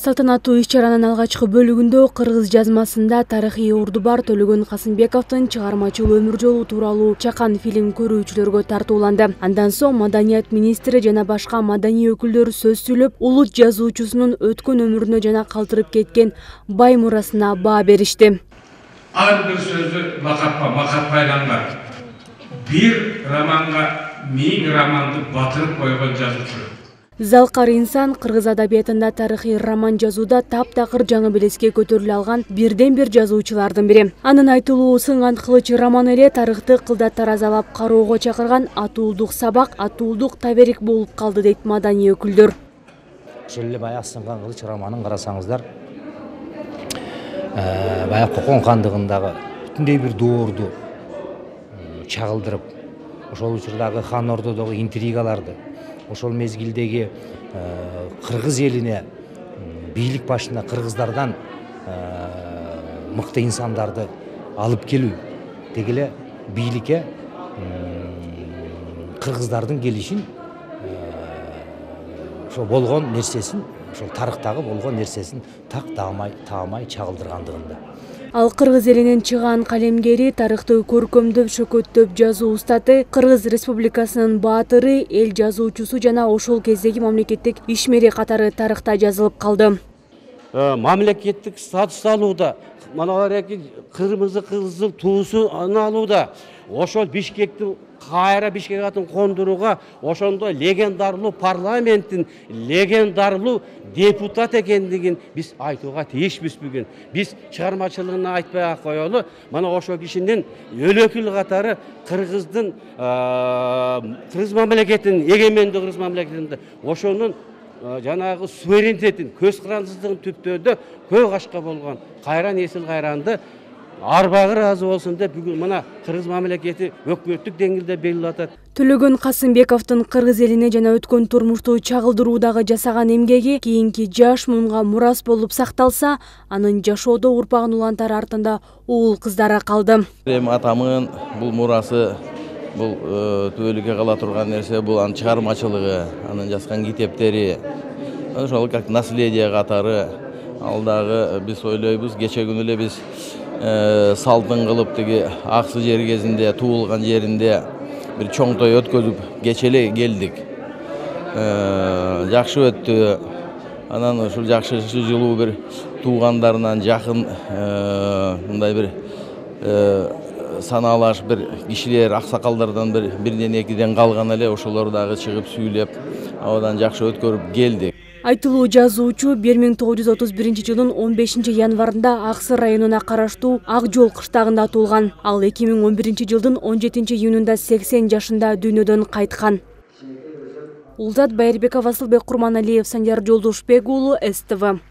Салтанаттуу иш-чаранын алгачкы бөлүгүндө кыргыз жазмасында тарыхый орду бар Төлөгөн Касымбековдун чыгармачыл өмүр жолу тууралуу чакан фильм көрүүчүлөргө тартууланды. Андан соң маданият министри жана башка маданий өкүлдөр сөз сүйлөп, улут жазуучусунун өткөн өмүрүнө жана калтырып кеткен бай мурасына баа беришти. Ар бир сөзү макат байланган. Бир романга 1000 романды батырып койгон жазуучу. Залкар инсан кыргыз адабиятында тарыхый роман жазууда таптакыр жаңы белеске көтөрүлө алган бирден бир жазуучулардын бири. Анын айтылуу Сынган кылыч романы эле тарыхты кылда таразалап кароого чакырган атуулдук сабак, атуулдук таберик болуп калды дейт маданий өкүлдөр. Ошол эле баягы Сынган кылыч романын карасаңыздар, баягы Кокон хандыгындагы бүтүндөй бир доорду чагылдырып, ошол учурдагы хан ордодогу интригаларды, ошол мезгилдеги кыргыз элине бийлик башына кыргыздардан мыкты инсандарды алып келүү, деги эле бийликке кыргыздардын келишин, ошо болгон нерсесин, ошол тарыхтагы болгон нерсесин так таамай чагылдыргандыгында. Ал кыргыз элинин чыгаан калемгери, тарыхты көркөмдөп, шөкөттөп жазуу устаты, Кыргыз Республикасынын баатыры, эл жазуучусу жана ошол кездеги мамлекеттик ишмери катары тарыхта жазылып калды. Мамлекеттик статус алууда, манагы кырмызы кызыл туусун алууда, ошол Бишкектин кайра Бишкек атын кондурууга ошондо легендарлуу парламенттин легендарлуу депутат экендигин биз айтууга тийишпиз бүгүн. Биз чыгармачылыгын айтпай коелу, мана ошол кишинин өлөкүл катары кыргыздын кыргыз мамлекетинин эгемендүү кыргыз мамлекетинде ошонун жанагы суверенитетин, көз карандысыздыгын түптөөдө көк ашка болгон кайран эсил кайранды арбагы ыраазы болсун деп бүгүн мына кыргыз мамлекети өкмөттүк деңгээлде белгилеп атат. Төлөгөн Касымбековдун кыргыз элине жана өткөн турмушту чагылдыруудагы жасаган эмгеги кийинки жаш муунга мурас болуп сакталса, анын жашоодо урпагын улантары артында уул кыздары калды. Атамын бул мурасы, бул түбөлүккө кала турган нерсе, бул анын чыгармачылыгы, анын жазган китептери, ошол как наследие катары. Ал дагы биз ойлойбуз, кече күнү эле биз салтын кылып тиги Аксы жер кезинде, туулган жеринде бир чоң той өткөзүп кече эле келдик. Жакшы өттү. Анан ушул жакшы жылуу бир туугандарынан жакын мындай бир санаалаш бир кишилер, аксакалдардан бирден экиден калган эле, ошолор дагы чыгып сүйлөп, абадан жакшы өткөрүп келдик. Айтылуу жазуучу 1931 жылдын 15 январында Аксы районуна караштуу Ак Жол кыштагында туулган. Ал 2011 жылдын 17 июнунда 80 жашында дүйнөдөн кайткан. Улзат Байырбеков, Асылбек Курманалиев, Санжар Жолдошбек уулу, СТВ.